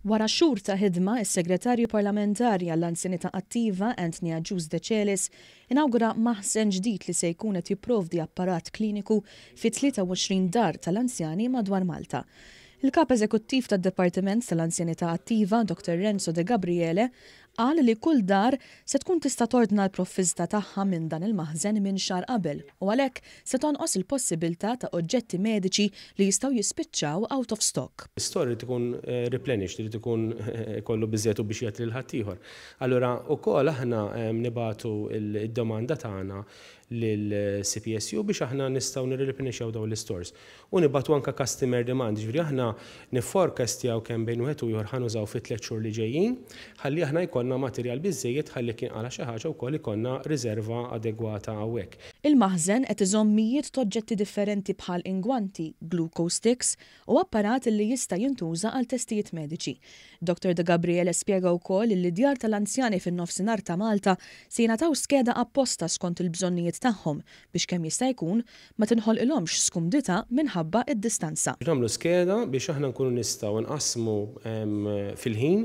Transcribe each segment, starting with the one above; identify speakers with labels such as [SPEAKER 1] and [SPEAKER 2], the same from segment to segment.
[SPEAKER 1] Wara xhur ta' ħidma, is-Segretarju Parlamentari għall-Anzjanità Attiva, Anthony Agius Decelis, inawgura maħżen ġdid li se jkun qed jipprovdi apparat kliniku fi 23 dar tal-anzjani madwar Malta. Il-Kap Eżekuttiv tad-Dipartiment tal-Anzjanità Attiva, Dottor Renzo Degabriele, Qal li kull dar se tkun tista' tordna l-provvista tagħha minn dan il-maħżen minn xahar qabel u għalhekk se tonqos il-possibiltà ta' oġġetti mediċi li jistgħu jispiċċaw out of stock.
[SPEAKER 2] Store irid ikun replenished, irid ikun ikollu biżżejjed u biex jagħti lil ħaddieħor. Allura wkoll aħna nibagħtu d-domanda tagħna lill-CPSU biex aħna nistgħu nirreplenixxjaw dawn l-istores. U nibagħtu anke customer demand, jiġifieri aħna nifforecastjaw kemm bejn wieħed u ieħor ħa nużaw fit-tliet xhur li ġejjin, ħalli aħna jkollna materjal biżżejjed ħalli jekk jinqala' xi ħaġa wkoll ikollna riserva adegwata hawnhekk.
[SPEAKER 1] Il-maħżen qed iżomm mijiet t'oġġetti differenti bħal ingwanti, glucose sticks u apparat li jista' jintuża għal testijiet mediċi. Dottor De Gabriele spjega wkoll li d-djar tal-anzjani fin-Nofsinhar ta' Malta se jingħataw skeda apposta skont il-bżonnijiet tagħhom biex kemm jista' jkun ma tinħolqilhomx skumdità minħabba d-distanza.
[SPEAKER 2] Nagħmlu skeda biex aħna nkunu nistgħu nqassmu fil-ħin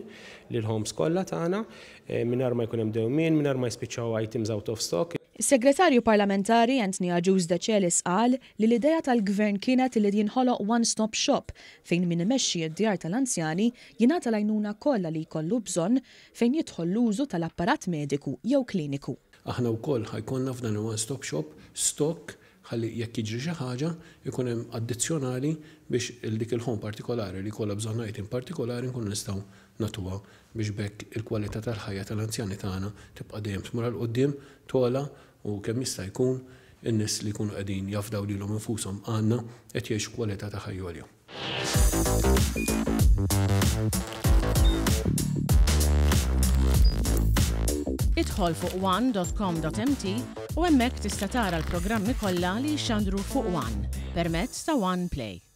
[SPEAKER 2] lill-homes kollha tagħna mingħajr ma jkun hemm dewmien, mingħajr ma jispiċċaw items out of stock.
[SPEAKER 1] Is-Segretarju Parlamentari Anthony Agius Decelis qal li l-idea tal-Gvern kienet li jinħoloq one-stop shop fejn min imexxi d-djar tal-anzjani jingħata l-għajnuna kollha li jkollu bżonn fejn jidħol l-użu tal-apparat mediku jew kliniku.
[SPEAKER 3] Aħna wkoll ħa jkollna f'dan il-one stop shop stock ħalli jekk jiġri xi ħaġa jkun hemm addizzjonali biex il dik il-home partikolari li jkollha bżonn item partikolari nkunu nistgħu nagħtuha biex b'hekk il-kwalità tal-ħajja tal-anzjani tagħna tibqa' dejjem tmur għal quddiem, togħla u kemm jista' jkun in-nies li jkunu qegħdin jafdaw lilhom infushom għandna qed jgħixu kwalità ta' ħajja għolja.
[SPEAKER 4] Idħol fuq one.com.mt u hemmhekk tista' tara l-programmi kollha li jixxandru fuq One permezz ta' One Play.